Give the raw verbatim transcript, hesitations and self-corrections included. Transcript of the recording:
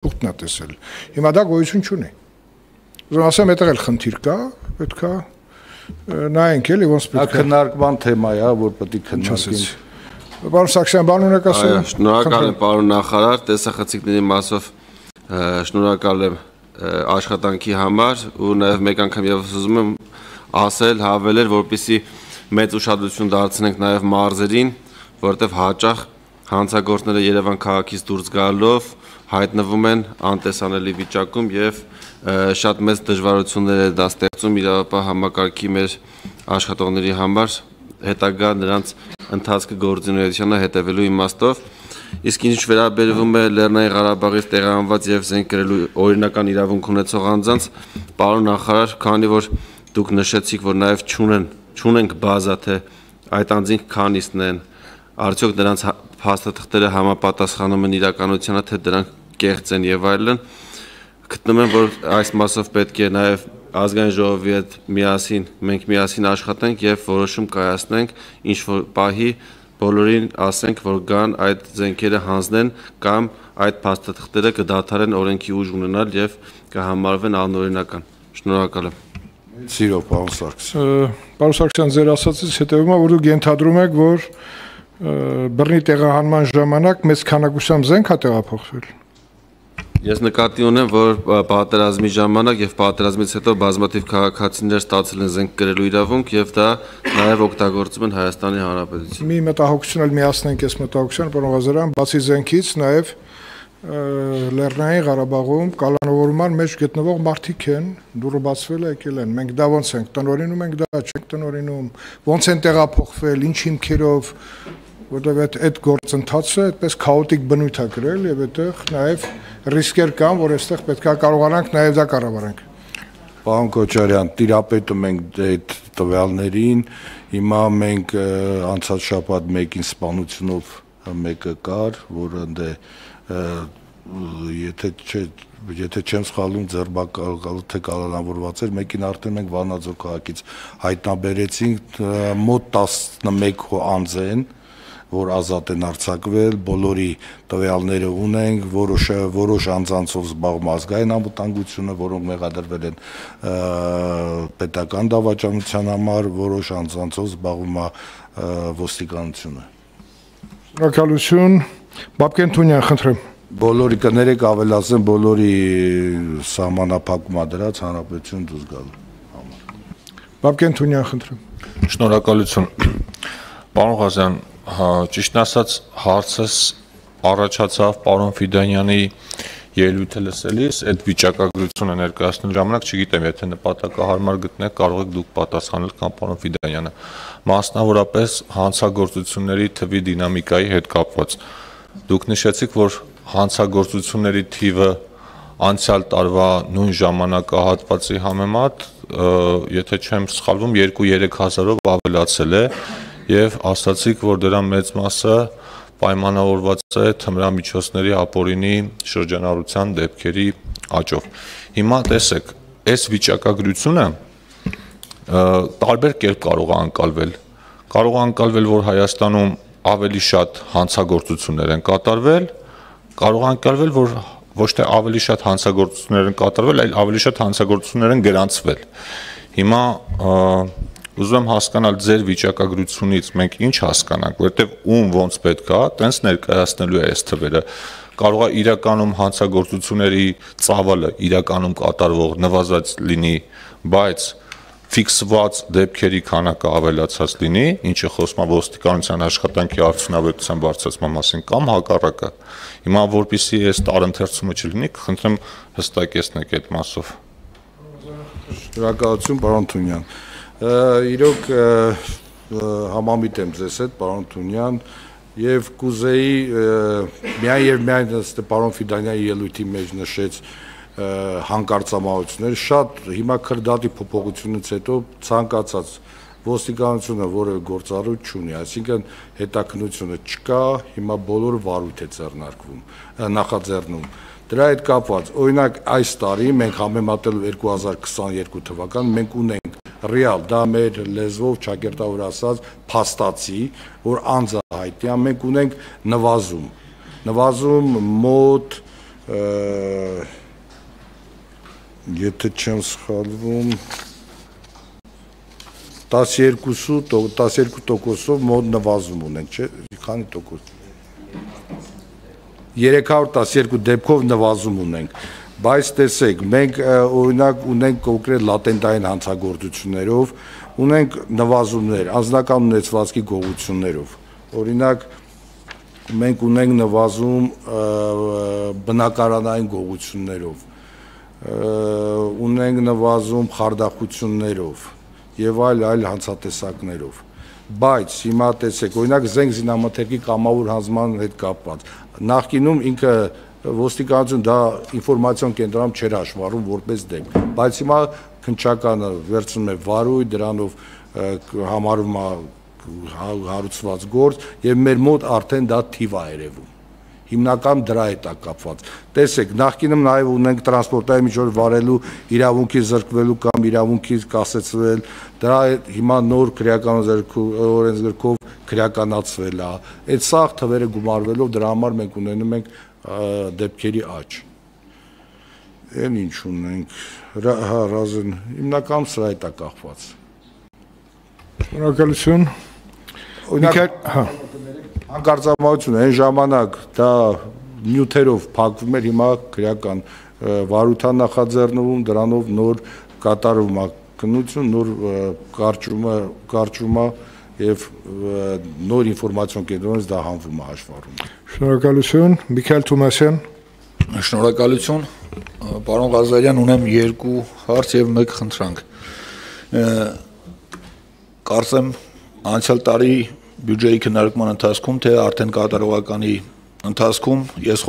շուտն է տեսել։ Հիմա դա գոյություն չունի։ Ուզում ասեմ, այդտեղ էլ խնդիր կա, պետք է նայենք էլի ոնց պետք է։ Դա քննարկման թեմա է, որ պետք է քննարկենք։ Պարոն Սարգսյան, բան ունեք ասել։ Շնորհակալ եմ պարոն նախարար, տեսախցիկների մասով շնորհակալ եմ աշխատանքի համար ու նաև մեկ անգամ եւս ուզում եմ ասել, հավելել, որպեսզի մեծ ուշադրություն դարձնենք նաև մարզերին, որտեղ հաճախ հանցագործները Երևան քաղաքից դուրս գալով հայտնվում են անտեսանելի վիճակում եւ շատ մեծ դժվարություններ է դա ստեղծում իրավապահ համակարգի մեր աշխատողների համար հետագա նրանց ընթացքը գործունեությանը հետևելու իմաստով իսկ ինչ վերաբերվում է Լեռնային Ղարաբաղից տեղահանված եւ զենք կրելու օրինական իրավունք ունեցող անձանց պարոն նախարար, քանի որ դուք նշեցիք, որ նաեւ չունեն չունենք բազա թե այդ անձինք քանիսն են, արդյոք նրանց փաստաթղթերը համապատասխանում են իրականությանը, թե դրանք կեղծ են եւ այլն, գտնում եմ, որ այս մասով պետք է նաեւ ազգային ժողովի հետ միասին մենք միասին աշխատենք եւ որոշում կայացնենք, ինչ որ պահի բոլորին ասենք, որ գան այդ զենքերը հանձնեն կամ այդ փաստաթղթերը կդադարեն օրենքի ուժ ունենալ եւ կհամարվեն անօրինական։ Շնորհակալ եմ։ Սիրով պարոն Սարգսյան։ Պարոն Սարգսյան, ձեր ասածից հետևում է, որ դուք ենթադրում եք, որ բռնի տեղահանման ժամանակ մեծ քանակությամբ զենք է տեղափոխվել։ Ես նկատի ունեմ, որ պատերազմի ժամանակ եւ պատերազմից հետո բազմաթիվ քաղաքացիներ ստացել են զենք կրելու իրավունք եւ դա նաեւ օգտագործում են Հայաստանի Հանրապետությունում։ Մի մտահոգություն էլ միացնենք այս մտահոգության, պարոն Ղազարյան, բացի զենքից նաեւ Լեռնային Ղարաբաղում կալանավորման մեջ գտնվող մարդիկ են, դուրը բացվել է, եկել են։ Մենք դա ոնց ենք տնօրինում, ենք դա չենք տնօրինում, ոնց են տեղափոխվել, ինչ հիմքերով, որտեղ այդ գործընթացը այդպես քաոտիկ բնույթ է կրել եւ այդտեղ նաեւ ռիսկեր կան, որ այստեղ պետք է կարողանանք նաեւ դա կառավարենք։ Պարոն Քոչարյան, տիրապետում ենք այդ տվյալներին, հիմա մենք անցած շաբաթ մեկին սպանությունով մեկը կար, որը ընդ եթե չէ եթե չեմ սխալվում ձերբակալել թե կալանավորված էր, մեկին արդեն մենք Վանաձոր քաղաքից հայտնաբերեցինք, մոտ տասնմեկ անձ են, որ ազատ են արձակվել, բոլորի տվյալները ունենք, որոշ որոշ անձանցով զբաղվում ազգային անվտանգությունը, որոնք մեղադրվել են պետական դավաճանության համար, որոշ անձանցով զբաղվում է ոստիկանությունը։ Շնորհակալություն, Բաբկեն Թունյան, խնդրեմ։ Բոլորի կներեք ավելացնեմ, բոլորի սահմանափակումա դրած հանրապետություն դուրս գալու համար։ Բաբկեն Թունյան, խնդրեմ։ Շնորհակալություն։ Պարոն Ղազարյան, ճիշտն ասած հարցս առաջացավ պարոն Ֆիդանյանի ելույթը լսելիս, այդ վիճակագրությունը ներկայացնելու ժամանակ չգիտեմ, եթե նպատակահարմար գտնեք, կարող եք դուք պատասխանել կամ պարոն Ֆիդանյանը, մասնավորապես հանցագործությունների թվի դինամիկայի հետ կապված։ Դուք նշեցիք, որ հանցագործությունների թիվը անցյալ տարվա նույն ժամանակահատվածի համեմատ, եթե չեմ սխալվում, երկու-երեք հազարով ավելացել է եւ ասացիք, որ դրա մեծ մասը պայմանավորված է թմրամիջոցների ապօրինի շրջանառության դեպքերի աճով։ Հիմա տեսեք, այս վիճակագրությունը տարբեր կերպ կարող է անցալվել։ Կարող է անցալվել, որ Հայաստանում ավելի շատ հանցագործություններ են կատարվել, կարող է անցալվել, որ ոչ թե ավելի շատ հանցագործություններ են կատարվել, այլ ավելի շատ հանցագործություններ են գրանցվել։ Հիմա ուզում եմ հասկանալ ձեր վիճակագրությունից մենք ինչ հասկանանք, որտեվ ում ոնց պետք է, տենց ներկայացնելու է այս թվերը։ Կարող է իրականում հանցագործությունների ծավալը իրականում կատարվող նվազած լինի, բայց ֆիքսված դեպքերի քանակը ավելացած լինի, ինչը խոսում է ոստիկանության աշխատանքի արդյունավետության բարձրացման մասին կամ հակառակը։ Հիմա որպեսզի այս տարընթերցումը չլինի, կխնդրեմ հստակեցնեք այդ մասով։ Շնորհակալություն, պարոն Թունյան։ Իրոք համամիտ եմ ձեզ հետ, պարոն Թունյան, եւ կուզեի միայն եւ միայն ըստ պարոն Ֆիդանյանի ելույթի մեջ նշեց հանկարծամահություններ, շատ հիմա քրդատի փոփոխությունից հետո ցանկացած ոստիկանությունը որևէ գործառույթ չունի, այսինքն հետաքննությունը չկա, հիմա բոլոր վարույթ է ձեռնարկվում, նախաձեռնում։ Դրա հետ կապված, օրինակ այս տարի մենք համեմատելու երկու հազար քսաներկու թվական մենք ունենք ռեալ, դա մեր լեզվով ճակերտավոր ասած փաստացի, որ անձը հայտնի է, մենք ունենք նվազում, նվազում մոտ եթե չեմ սխալվում տասներկու տոկոսով մոտ նվազում ունենք, չէ՞, քանի տոկոս։ երեք հարյուր տասներկու դեպքով նվազում ունենք, բայց տեսեք, մենք օրինակ ունենք կոնկրետ լատենտային հանցագործություններով, ունենք նվազումներ, անձնական ունեցվածքի գողություններով։ Օրինակ մենք ունենք նվազում բնակարանային գողություններով, ունենք նվազում խարդախություններով եւ այլ այլ հանցատեսակներով, բայց հիմա տեսեք, օրինակ զենք զինամթերքի կամավոր հանձնման հետ կապված, նախկինում ինքը ոստիկանություն դա ինֆորմացիոն կենտրոնում չէր հաշվառում որպես դեպք, բայց հիմա քննչականը վերցնում է վարույթ, դրանով համարում է հարուցված գործ եւ մեր մոտ արդեն դա թիվ է երևում։ Հիմնական դրա հետ է կապված։ Տեսեք, նախկինում նաև ունենք տրանսպորտային միջոց վարելու իրավունքի զրկվելու կամ իրավունքի կասեցվել, դրա հիմա նոր քրեական օրենսգրքով քրեականացվել է։ Այդ սաղ թվերը գումարվելով դրա համար մենք ունենում ենք դեպքերի աճ։ Այն ինչ ունենք, հա, Ռազեն, հիմնական սրա հետ է կախված։ Շնորհակալություն։ Օրինակ, հա Հանկարծամություն այն ժամանակ դա նյութերով փակվում էր, հիմա քրեական վարույթան նախաձեռնվում, դրանով նոր կատարվում է քննություն, նոր կարճումը, կարճումը եւ նոր ինֆորմացիոն կենտրոնից դա հանվում է հաշվառում։ Շնորհակալություն, Միքայել Թոմասյան։ Շնորհակալություն, պարոն Ղազարյան, ունեմ երկու հարց եւ մեկ խնդրանք։ Կարծեմ անցյալ տարի բյուջեի քննարկման ընթացքում, թե արդեն կատարողականի ընթացքում ես